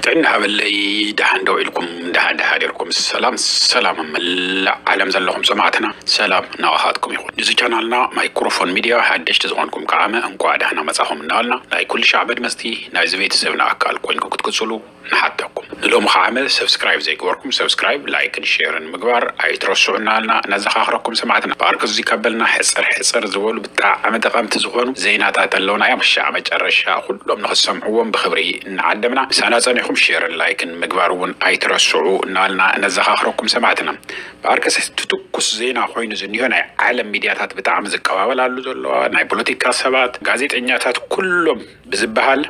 ጥዕና ሃበለይ። ደሓን ደው ኢልኩም? ደሓን ደሓን ዲርኩም? ሰላም ሰላም፣ መላእ ዓለም ዘለኹም ሰማዕትና፣ ሰላም ናባኻትኩም ይኹን። ንዚ ቻናልና ማይክሮፎን ሚድያ ሓደሽቲ ዝኾንኩም ከዓመ እንኳዕ ደህና መጻኹም እናበልና፣ ናይ ኩሉ ሻዕ መድመጽቲ ናይዚ ቤተሰብና ኣካል ኮይንኩም ክትቅጽሉ ንሓተኩም። ንሎሚ ከዓመ ሰብስክራይብ ዘይገበርኩም ሰብስክራይብ፣ ላይክን ሼርን ምግባር ኣይትረስዑ እናበልና ነዘኻኽረኩም ሰማዕትና። ብኣርክዚ ከበልና ሕጽር ሕጽር ዝበሉ ብጣዕሚ ጠቐምቲ ዝኾኑ ዜናታት ኣለውና እዮም። ሻዕ መጨረሻ ኩሎም ንኽትሰምዕዎም ብኽብሪ እናዓደምና፣ ምሳና ጸኒኹም ሼርን ላይክን ምግባር እውን ኣይትረስዑ እናበልና ነዘኻኽረኩም ሰማዕትና። ብኣርከስ ትኩስ ዜና ኮይኑ ዝኒሆ ናይ ዓለም ሚድያታት ብጣዕሚ ዝቀባበላሉ ዘሎ፣ ናይ ፖለቲካ ሰባት፣ ጋዜጠኛታት፣ ኩሎም ብዝበሃል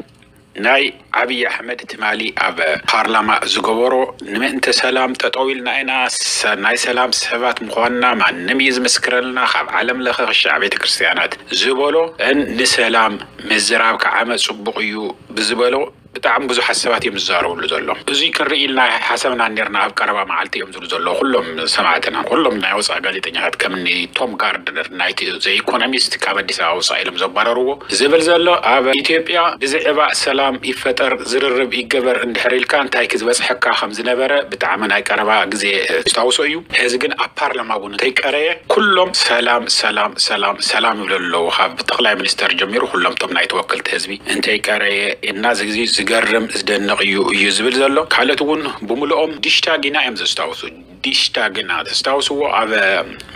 ናይ ኣብይ ኣሕመድ ትማሊ ኣብ ፓርላማ ዝገበሮ፣ ንምእንተ ሰላም ጠጠው ኢልና ኢና፣ ሰ-፣ ናይ ሰላም ሰባት ምዃንና ማንም እዩ ዝምስክረልና፣ ካብ ዓለም ለኸ ክሻዕ ቤተ ክርስቲያናት ዝበሎ፣ እን ንሰላም ምዝራብ ከዓመ ጽቡቕ እዩ ብዝበሎ ብጣዕሚ ብዙሓት ሰባት እዮም ዝዛረብሉ ዘሎ። እዙይ ክንርኢ ኢልና ሓሰብና ኔርና፣ ኣብ ቀረባ መዓልቲ እዮም ዝብሉ ዘለዉ ኩሎም ሰማዕትና። ኩሎም ናይ ወፃኢ ጋዜጠኛታት፣ ከም እኒ ቶም ጋርድነር ናይቲ ዘ ኢኮኖሚስት፣ ካብ ኣዲስ ኣበባ ውፃእ ኢሎም ዘባረርዎ ዝብል ዘሎ። ኣብ ኢትዮጵያ ብዛዕባ ሰላም ይፈጠር፣ ዝርርብ ይገበር እንድሕር ኢልካ እንታይ ክዝበፅሐካ ከም ዝነበረ ብጣዕሚ ናይ ቀረባ ግዜ ዝታውሶ እዩ። ሕዚ ግን ኣብ ፓርላማ እውን እንተይቀረየ ኩሎም ሰላም ሰላም ሰላም ሰላም ይብሉ ኣለዉ። ካብ ጠቕላይ ሚኒስተር ጀሚሩ ኩሎም ቶም ናይ ተወከልቲ ህዝቢ እንተይቀረየ እና፣ እዚ ግዜ ዝገርም ዝደንቕ እዩ እዩ ዝብል ዘሎ። ካልኦት እውን ብምልኦም ዲሽታግ ኢና እዮም ዘስታውሱ። ዲሽታግ ኢና ተስታውስዎ፣ ኣብ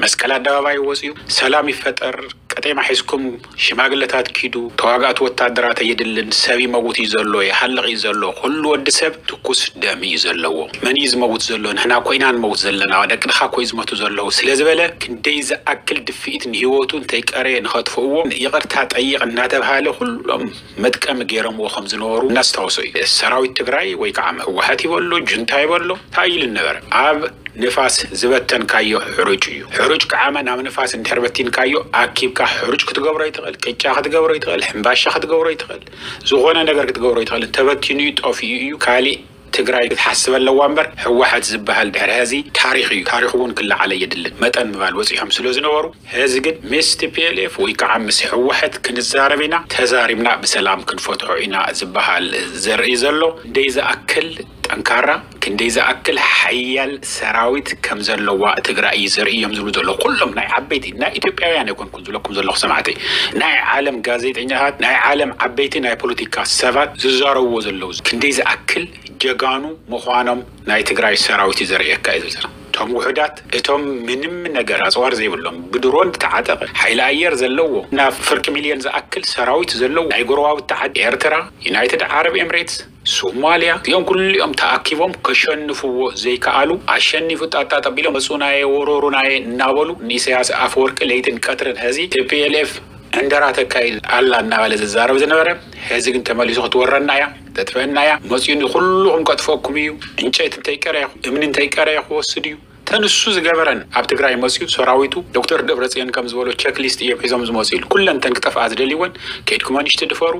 መስቀል ኣደባባይ ወፅዩ ሰላም ይፈጠር፣ ቀጤማ ሒዝኩም ሽማግለታት ኪዱ፣ ተዋጋእቲ ወታደራት ኣየድልን፣ ሰብ ይመውት እዩ ዘሎ፣ ይሃልቕ እዩ ዘሎ፣ ኩሉ ወዲ ሰብ ትኩስ ደም እዩ ዘለዎ። መን እዩ ዝመውት ዘሎ? ንሕና ኮይና ንመውት ዘለና፣ ደቅኻ ኮይ ዝመቱ ዘለዉ ስለ ዝበለ፣ ክንደይ ዝኣክል ድፍኢት ንህይወቱ እንተይቀረየ ንኸጥፍእዎ ይቕርታ ጠይቕ እናተብሃለ ኩሎም መጥቀሚ ገይሮምዎ ከም ዝነበሩ እናስታወሶ እዩ። ሰራዊት ትግራይ ወይ ከዓ ህወሓት ይበሎ፣ ጁንታ ይበሎ፣ እንታይ ኢሉ ነበረ? ኣብ ንፋስ ዝበተንካዮ ሕሩጭ እዩ። ሕሩጭ ከዓመ ናብ ንፋስ እንድሕር በቲንካዮ፣ ኣኪብካ ሕሩጭ ክትገብሮ ይትኽእል፣ ቅጫ ክትገብሮ ይትኽእል፣ ሕምባሻ ክትገብሮ ይትኽእል፣ ዝኾነ ነገር ክትገብሮ ይትኽእል። እንተበቲኑ እዩ፣ ጠፊኡ እዩ። ካሊእ ትግራይ ክትሓስብ ኣለዋ እምበር፣ ህወሓት ዝበሃል ድሕሪ ሐዚ ታሪኽ እዩ። ታሪኹ እውን ክለዓል ኣየድልን። መጠን ምባል በፂሖም ስለ ዝነበሩ፣ ሐዚ ግን ምስ ቲ ፒ ኤል ኤፍ ወይ ከዓ ምስ ህወሓት ክንዛረብ ኢና፣ ተዛሪብና ብሰላም ክንፈትሖ ኢና ዝበሃል ዘርኢ ዘሎ። እንደይ ዝኣክል ጠንካራ፣ ክንደይ ዝኣክል ሓያል ሰራዊት ከም ዘለዋ ትግራይ እዩ ዘርኢ እዮም ዝብሉ ዘለዉ። ኩሎም ናይ ዓበይቲ፣ ናይ ኢትዮጵያውያን ኣይኮንኩን ዝብለኩም ዘለኹ ሰማዕተይ፣ ናይ ዓለም ጋዜጠኛታት፣ ናይ ዓለም ዓበይቲ ናይ ፖለቲካ ሰባት ዝዛረብዎ ዘለዉ፣ ክንደይ ዝኣክል ጀጋኑ ምዃኖም ናይ ትግራይ ሰራዊት እዩ ዘርእየካ እዩ ዝብል ዘሎ። እቶም ውሑዳት፣ እቶም ምንም ነገር ኣፅዋር ዘይብሎም፣ ብድሮን ዝተዓጠቐ ሓይሊ ኣየር ዘለዎ፣ ናብ ፍርቂ ሚልዮን ዝኣክል ሰራዊት ዘለዎ፣ ናይ ጎረባብቲ ዓዲ ኤርትራ፣ ዩናይትድ ዓረብ ኤምሬትስ፣ ሶማልያ፣ እዚኦም ኩሊኦም ተኣኪቦም ከሸንፍዎ ዘይከኣሉ፣ ኣሸኒፉ ጣጣ ጠቢሎም መፁናየ ወረሩናየ እናበሉ ንኢሳያስ ኣፈወርቂ ለይትን ቀትርን ሐዚ ቲ ፒ ኤል ኤፍ ዕንደራ ተካይድ ኣላ እናበለ ዝዛረብ ዝነበረ፣ ሐዚ ግን ተመሊሱ ክትወረና እያ፣ ተጥፈአና እያ፣ መፅኡ ንኩልኹም ከጥፈኩም እዩ፣ ዕንጨይቲ እንተይቀረየ፣ እምኒ እንተይቀረየ ክወስድ እዩ። ተንሱ ዝገበረን ኣብ ትግራይ መፅኡ ሰራዊቱ ዶክተር ደብረፅዮን ከም ዝበሎ ቸክሊስት እዮም ሒዞም ዝመፁ ኢሉ። ኩለን ተን ክጠፍኣ ዝደልይወን፣ ከይድኩም ኣንሽቲ ድፈሩ፣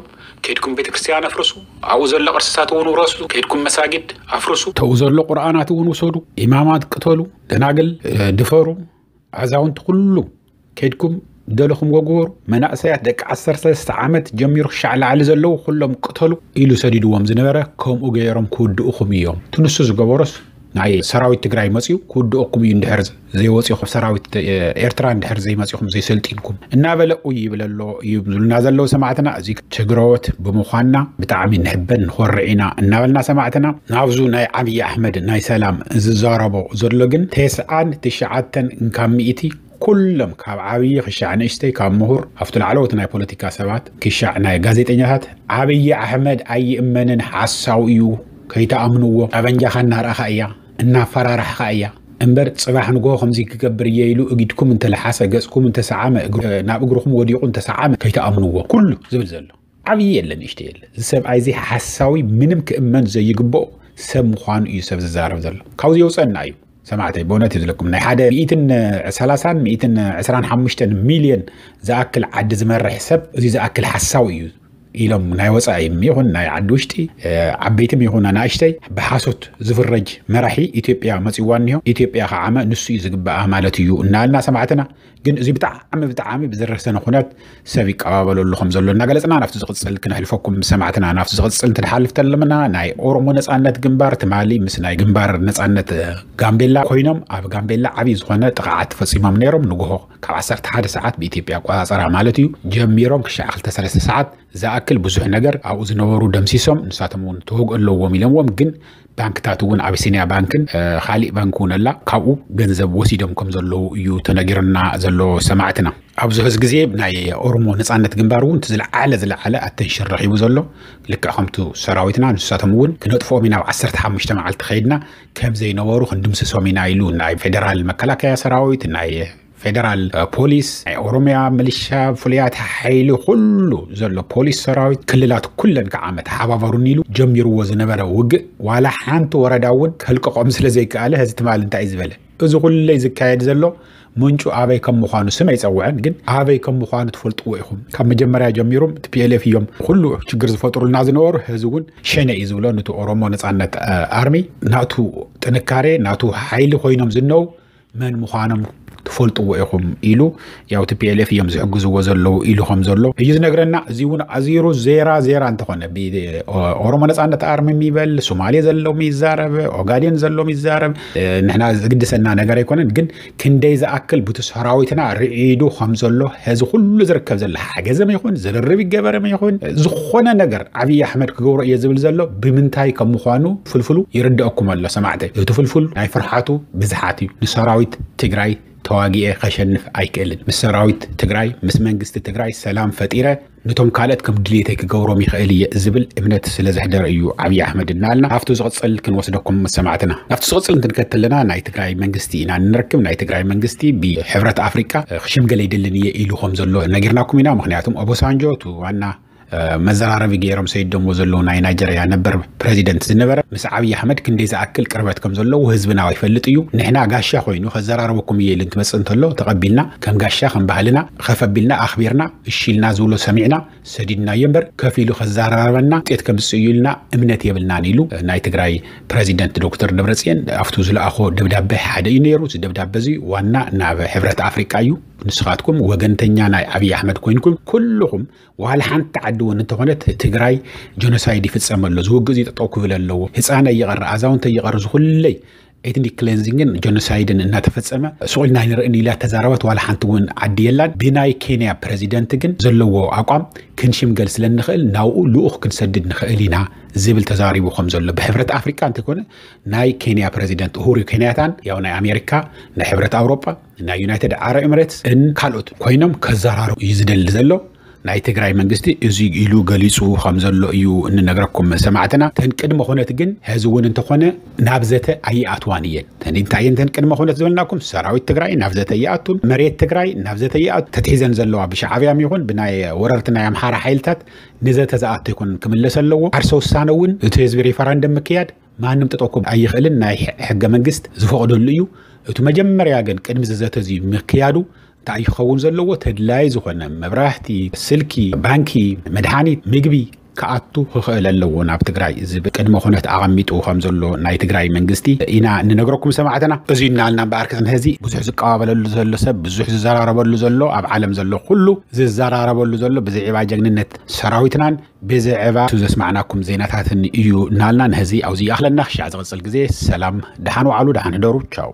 ከይድኩም ቤተክርስትያን ኣፍርሱ፣ ኣብኡ ዘሎ ቅርስታት እውን ውረሱ፣ ከይድኩም መሳጊድ ኣፍርሱ፣ ተኡ ዘሎ ቁርኣናት እውን ውሰዱ፣ ኢማማት ቅተሉ፣ ደናግል፣ እ፣ ድፈሩ፣ ኣዛውንቲ ኩሉ ከይድኩም ደለኹም ወግበሩ፣ መናእሰያት ደቂ ዓሰርተ ሰለስተ ዓመት ጀሚሩ ክሻዕ ላዕሊ ዘለዉ ኩሎም ቅተሉ ኢሉ ሰዲድዎም ዝነበረ፣ ከምኡ ገይሮም ክውድኡኹም እዮም። ትንሱ ዝገበሮስ ናይ ሰራዊት ትግራይ መፅዩ ክውድኦኩም እዩ። እንድሕር ዘይወፂኹም፣ ሰራዊት ኤርትራ እንድሕር ዘይመፂኹም፣ ዘይሰልጢንኩም እናበለ ኡይ ይብል ኣሎ እዩ ዝብሉና ዘለዉ ሰማዕትና። እዚ ትግረዎት ብምዃንና ብጣዕሚ ንሕበን ንኾርዕ ኢና እናበልና ሰማዕትና፣ ናብዙ ናይ ዓብዪ ኣሕመድ ናይ ሰላም ዝዛረቦ ዘሎ ግን ተስዓን ትሽዓተን ካብ ሚእቲ ኩሎም ካብ ዓብዪ ክሻዕ ንእሽተይ፣ ካብ ምሁር ኣብቲ ላዕለዎት ናይ ፖለቲካ ሰባት ክሻዕ ናይ ጋዜጠኛታት፣ ዓብዪ ኣሕመድ ኣይእመንን፣ ሓሳዊ እዩ፣ ከይተኣምንዎ፣ ጠበንጃኻ እናረኣኻ እያ፣ እናፈራራሕኻ እያ እምበር፣ ፅባሕ ንግሆ ከምዚ ክገብር እየ ኢሉ እጊድኩም እንተለሓሰ፣ ገፅኩም እንተሰዓመ፣ እግሩ-፣ ናብ እግርኹም ወዲቑ እንተሰዓመ ከይተኣምንዎ። ኩሉ ዝብል ዘሎ ዓብዪ የለ ንእሽተይ የለ። እዚ ሰብኣይ እዚ ሓሳዊ፣ ምንም ክእመን ዘይግብኦ ሰብ ምዃኑ እዩ ሰብ ዝዛረብ ዘሎ። ካብዚ የውፀና እዩ ሰማዕተይ፣ ብእውነት እዩ ዝለኩም። ናይ ሓደ ሚእትን ሰላሳን ሚእትን ዕስራን ሓሙሽተን ሚልዮን ዝኣክል ዓዲ ዝመርሕ ሰብ እዚ ዝኣክል ሓሳዊ እዩ ኢሎም ናይ ወፃኢ ይኹን ናይ ዓዲ ውሽጢ ዓበይትም ይኹን ኣናእሽተይ ብሓሶት ዝፍረጅ መራሒ ኢትዮጵያ መፅዋ እኒሆ። ኢትዮጵያ ከዓመ ንሱ እዩ ዝግበኣ ማለት እዩ እናልና ሰማዕትና። ግን እዚ ብጣዕሚ ብጣዕሚ ብዝረሰነ ኩነት ሰብ ይቀባበለሉ ከም ዘሎ እናገለፅና ናብቲ ዝቕፅል ክነሕልፈኩም ሰማዕትና። ናብቲ ዝቕፅል እንትንሓልፍ ተለምና ናይ ኦሮሞ ነፃነት ግንባር ትማሊ ምስ ናይ ግንባር ነፃነት ጋምቤላ ኮይኖም ኣብ ጋምቤላ ዓብዪ ዝኾነ ጥቕዓት ፈፂሞም ነይሮም። ንግሆ ካብ ዓሰርተ ሓደ ሰዓት ብኢትዮጵያ ኣቆፃፅራ ማለት እዩ ጀሚሮም ክሻዕ ክልተ ሰለስተ ሰዓት ዝኣክል ብዙሕ ነገር ኣብኡ ዝነበሩ ደምሲሶም ንሳቶም እውን ተወግኦ ኣለዎም ኢሎምዎም። ግን ባንክታት እውን ኣቢሲኒያ ባንክን ካሊእ ባንክ እውን ኣላ ካብኡ ገንዘብ ወሲዶም ከም ዘለዉ እዩ ተነጊሩና ዘሎ ሰማዕትና። ኣብዚ ሕዚ ግዜ ናይ ኦሮሞ ነፃነት ግንባር እውን እቲ ዝለዓለ ዝለዓለ ኣተንሽን ረኪቡ ዘሎ ልክዕ ከምቱ ሰራዊትና ንሳቶም እውን ክነጥፍኦም ኢና ኣብ ዓሰርተ ሓሙሽተ መዓልቲ ከይድና ከም ዘይነበሩ ክንድምስሶም ኢና ኢሉ ናይ ፌደራል መከላከያ ሰራዊት ናይ ፌደራል ፖሊስ ናይ ኦሮሚያ ምልሻ ፍሉያት ሓይሊ ኩሉ ዘሎ ፖሊስ ሰራዊት ክልላት ኩለን ከዓ መተሓባበሩኒ ኢሉ ጀሚርዎ ዝነበረ ውግእ ዋላ ሓንቲ ወረዳ እውን ከልቀቆም ስለ ዘይከኣለ ሕዚ ትማል እንታይ እዩ ዝበለ? እዚ ኩለይ ዝካየድ ዘሎ ምንጩ ኣበይ ከም ምዃኑ ስም ኣይፀውዐን፣ ግን ኣበይ ከም ምዃኑ ትፈልጥዎ ኢኹም። ካብ መጀመርያ ጀሚሮም ቲ ፒ ኤል ኤፍ እዮም ኩሉ ችግር ዝፈጥሩልና ዝነበሩ። ሕዚ እውን ሸነ እዩ ዝብሎ ነቲ ኦሮሞ ነፃነት ኣርሚ ናቱ ጥንካሬ ናቱ ሓይሊ ኮይኖም ዝነው መን ምዃኖም ትፈልጥዎ ኢኹም ኢሉ ያው ቲ ፒ ኤል ኤፍ እዮም ዝሕግዝዎ ዘለዉ ኢሉ ከም ዘሎ እዩ ዝነግረና። እዚ እውን ኣዚሩ ዜራ ዜራ እንተኾነ ኦሮሞ ነፃነት ኣርሚ የሚበል ሶማሌ ዘለዎም ይዛረብ፣ ኦጋዴን ዘለዎም ይዛረብ፣ ንሕና ዝግድሰና ነገር ኣይኮነን። ግን ክንደይ ዝኣክል ቡቲ ሰራዊትና ርዒዱ ከም ዘሎ ሕዚ ኩሉ ዝርከብ ዘሎ ሓገዘም ይኹን ዝርርብ ይገበረም ይኹን ዝኾነ ነገር ዓብዪ ኣሕመድ ክገብሮ እየ ዝብል ዘሎ ብምንታይ ከም ምዃኑ ፍልፍሉ ይርድአኩም ኣሎ ሰማዕተይ። እቲ ፍልፍል ናይ ፍርሓቱ ብዝሓት እዩ። ንሰራዊት ትግራይ ተዋጊኤ ከሸንፍ ኣይክእልን። ምስ ሰራዊት ትግራይ ምስ መንግስቲ ትግራይ ሰላም ፈጢረ ነቶም ካልኦት ከም ድልየተይ ክገብሮም ይኽእል እየ ዝብል እምነት ስለ ዘሕደረ እዩ ዓብዪ ኣሕመድ እናልና ኣብቲ ዝቕፅል ክንወስደኩም ሰማዕትና። ኣብቲ ዝቕፅል እንትንከተለና ናይ ትግራይ መንግስቲ ኢና ንረክብ። ናይ ትግራይ መንግስቲ ብሕብረት ኣፍሪቃ ክሽምገል ኣይደልን እየ ኢሉ ከም ዘሎ ነጊርናኩም ኢና። ምክንያቱም ኦቦሳንጆ እቲ ዋና መዘራረቢ ገይሮም ሰይዶሞ ዘለዉ ናይ ናይጀርያ ነበር ፕሬዚደንት ዝነበረ ምስ ዓብዪ ኣሕመድ ክንደይ ዝኣክል ቅርበት ከም ዘለዎ ህዝብና ይፈልጥ እዩ። ንሕና ጋሻ ኮይኑ ከዘራረበኩም እየ ኢሉ እንትመፅእ እንተሎ ተቐቢልና ከም ጋሻ ከም ባህልና ከፍ ኣቢልና ኣኽቢርና እሺ ኢልና ዝብሎ ሰሚዕና ሰዲድናዮ እምበር ከፍ ኢሉ ከዘራረበና ውፅኢት ከምፅእ እዩ ኢልና እምነት የብልናን ኢሉ ናይ ትግራይ ፕሬዚደንት ዶክተር ደብረፅዮን ኣብቱ ዝለኣኾ ደብዳቤ ሓደ እዩ ነይሩ። እዚ ደብዳቤ እዚ ዋና ናብ ሕብረት ኣፍሪቃ እዩ። ንስኻትኩም ወገንተኛ ናይ ዓብዪ ኣሕመድ ኮይንኩም ኩልኹም ዋላ ሓንቲ ዓዲ እውን እንተኾነት ትግራይ ጀኖሳይድ ይፍፀም ኣሎ። ዝውግእ እዚ ጠጠው ክብል ኣለዎ። ህፃነ ይቐር ኣዛውንተ ይቐር ዝኹለይ ኤትኒክ ክሌንዚንግን ጀኖሳይድን እናተፈፀመ ሱቕ ኢልና ኣይንርእን ኢላ ተዛረበት። ዋላ ሓንቲ እውን ዓዲ የላን። ብናይ ኬንያ ፕረዚደንት ግን ዘለዎ ኣቋም ክንሽምገል ስለ እንኽእል ናብኡ ልኡኽ ክንሰድድ ንኽእል ኢና ዝብል ተዛሪቡ ከም ዘሎ ብሕብረት ኣፍሪካ እንተይኮነ ናይ ኬንያ ፕረዚደንት ኡሁሩ ኬንያታን ያው ናይ ኣሜሪካ ናይ ሕብረት ኣውሮጳ ናይ ዩናይትድ ዓረብ ኤምሬትስ ን ካልኦት ኮይኖም ከዘራርቡ እዩ ዝደሊ ዘሎ። ናይ ትግራይ መንግስቲ እዚ ኢሉ ገሊፁ ከም ዘሎ እዩ እንነግረኩም ሰማዕትና። ተን ቅድመ ኩነት ግን ሕዚ እውን እንተኾነ ናብ ዘተ ኣይኣትዋን እየን። ተን እንታይ እየን ተን ቅድመ ኩነት ዝበልናኩም? ሰራዊት ትግራይ ናብ ዘተ ይኣቱን መሬት ትግራይ ናብ ዘተ ይኣቱ ተትሒዘን ዘለዋ ብሻዕብያም ይኹን ብናይ ወረርቲ ናይ ኣምሓራ ሓይልታት ንዘተ ዝኣቱ ይኹን ክምለስ ኣለዎ። ዓርሰ ውሳነ እውን እቲ ህዝቢ ሪፈረንደም ምክያድ ማንም ጠጠው ክብል ኣይኽእልን። ናይ ሕገ መንግስት ዝፈቕደሉ እዩ። እቲ መጀመርያ ግን ቅድሚ እዚ ዘተ እዚ ምክያዱ እንታይ እዩ ክኸውን ዘለዎ? ተድላይ ዝኾነ መብራህቲ፣ ስልኪ፣ ባንኪ፣ መድሓኒት፣ ምግቢ ክኣቱ ክኽእል ኣለዎ ናብ ትግራይ ዝብል ቅድመ ኩነት ኣቐሚጡ ከም ዘሎ ናይ ትግራይ መንግስቲ ኢና እንነግረኩም ሰማዕትና። እዚ እናልና እምበኣር ክፅንሐ እዚ ብዙሕ ዝቀባበለሉ ዘሎ ሰብ ብዙሕ ዝዘራረበሉ ዘሎ ኣብ ዓለም ዘሎ ኩሉ ዝዘራረበሉ ዘሎ ብዛዕባ ጀግንነት ሰራዊትናን ብዛዕባ እቲ ዘስማዕናኩም ዜናታትን እዩ እናልና ንሕዚ ኣብዚ ይኣኽለና። ክሻዕ ዝቕፅል ግዜ ሰላም፣ ደሓን ዋዕሉ፣ ደሓን ሕደሩ። ቻው።